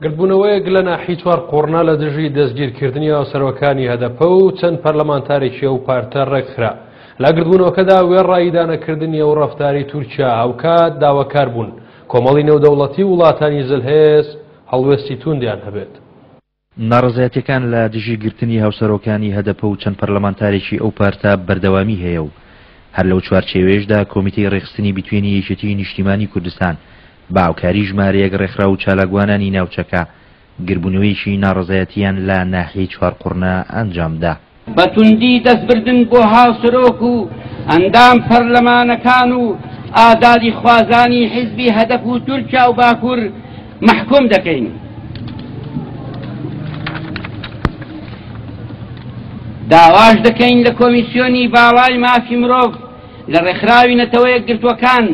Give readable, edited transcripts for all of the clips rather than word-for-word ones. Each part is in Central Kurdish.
گردبوونەوەیەک لە ناحی چوارقوڕنە لە دژی دەستگیرکردنی هاوسەرۆکانی هەدەپە و چەند پەرلەمانتارێکی ئەو پارتە ڕێکخرا. لە گردبوونەوەکەدا وێڕای ئیدانەکردنی ئەو ڕەفتارەی تورکیا هاوکات داواکار بوون کۆمەڵی نێودەوڵەتی و وڵاتانی زلهێز هەڵوێستی تووندیان هەبێت. ناڕەزایەتیەکان لە دژی گرتنی هاوسەرۆکانی هەدەپە و چەند پەرلەمانتارێکی ئەو پارتە بەردەوامی هەیە و هەر لەو چوارچێوەیەشدا کۆمیتەی ڕێکخستنی بتوێنی یەکێتیی نیشتیمانی کوردستان بە هاوکاری ژمارەیەک ڕێکخراو و چالاکوانانی ناوچەکە گربوونەوەیەکی ناڕەزایەتییان لە ناحیەی چوارقوڕنە ئەنجامدا. بە توندی دەستبردن بۆ هاوسەرۆک و ئەندام پەرلەمانەکان و ئازادیخوازانی حیزبی هەدەپ و تورکیا و باکوور مەحکوم دەکەین. داواش دەکەین لە کۆمیسیۆنی باڵای مافی مرۆڤ لە ڕێکخراوی نەتەوە یەکگرتووەکان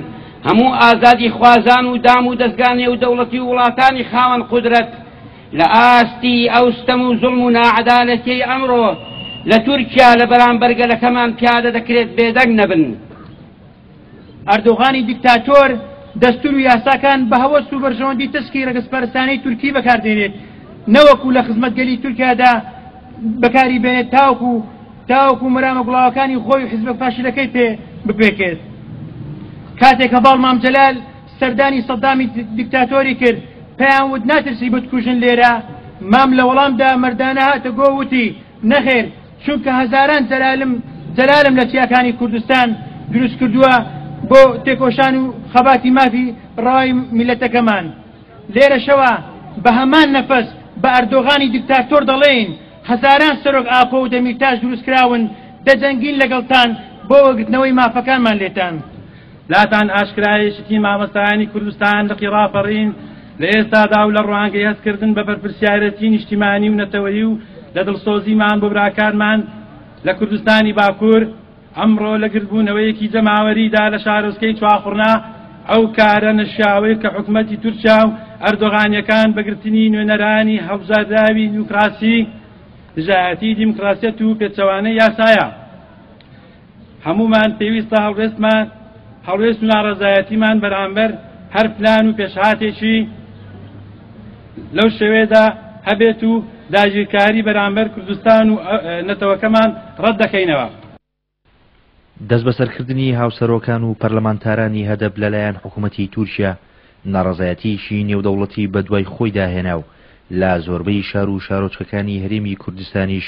هەموو ئازادیخوازان و دام و دەزگا نێودەوڵەتی و وڵاتانی خاوەن قودرەت لە ئاستی ئەو ستەم و زوڵم و ناعەدالەتیەی ئەمڕۆ لە تورکیا لە بەرامبەر گەلەکەمان پیادە دەکرێت بێدەنگ نەبن. ئەردۆغانی دیکتاتۆر دەستور و یاساکان بە هەوەس و بەرژەوەندی تەسکی رەگەزپەرستانەی تورکی بەکاردێنێت نەوەکو لە خزمەت گەلی تورکیادا بەکاری بێنێت تاوەکو تاوەکو مەرامە گوڵاوەکانی خۆی و حیزبە فاشلەکەی پێ بپێکێت. کاتێک هەڤاڵ مام جەلال سەردانی سەدامی دیکتاتۆری کرد پێیان وت ناترسی بتکوژن لێرە؟ مام لە وەڵامدا مەردانە هاتە گۆ وتی نەخێر چونکە هەزاران جەلالم جەلالم لە چیاکانی کوردستان دروست کردووە بۆ تێکۆشان و خەباتی مافی ڕەوای میلەتەکەمان. لێرەشەوە بە هەمان نەفەس بە ئەردۆغانی دیکتاتۆر دەڵێین هەزاران سەرۆک ئاپۆ و دەمیرتاش دروستکراون دەجەنگین لەگەڵتان بۆ وەرگرتنەوەی مافەکانمان لێتان. لاتان ئاشکرایە یەکێتی مامۆستایانی کوردستان لقی ڕاپەڕین لە ئێستادا و لە ڕوانگەی هەستکردن بە بەرپرسیارێتی نیشتیمانی و نەتەوەیی و لە دڵسۆزیمان بۆ براکانمان لە کوردستانی باکوور ئەمڕۆ لە گردبوونەوەیەکی جەماوەریدا لە شارۆچکەی چواخوڕنا ئەو کارە نەشیاوەی کە حکومەتی تورکیا و ئەردۆغانیەکان بە گرتنی نوێنەرانی هەڵبژاردراوی دیموکراسی دژایەتی دیموکراسیەت و پێچەوانەی یاسایە. هەموومان پێویستە هەڵوێستمان هەڵوێست و ناڕەزایەتیمان بەرامبەر هەر پلان و پێشهاتێکی لەو شێوەیەدا هەبێت و داگیرکاری بەرامبەر کوردستان و نەتەوەکەمان ڕەت دەکەینەوە. دەستبەسەرکردنی هاوسەرۆکان و پەرلەمانتارانی هەدەپ لەلایەن حکومەتی تورکیا ناڕەزایەتییەکی نێودەوڵەتی بەدوای خۆیدا هێنا و لە زۆربەی شار و شارۆچکەکانی هەرێمی کوردستانیش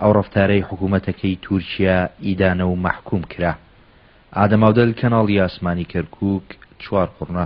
ئەو ڕەفتارەی حکومەتەکەی تورکیا ئیدانە و مەحکوم کرا. ئادەم ئاودەل کەناڵی ئاسمانی کەرکوک، چوارقوڕنە.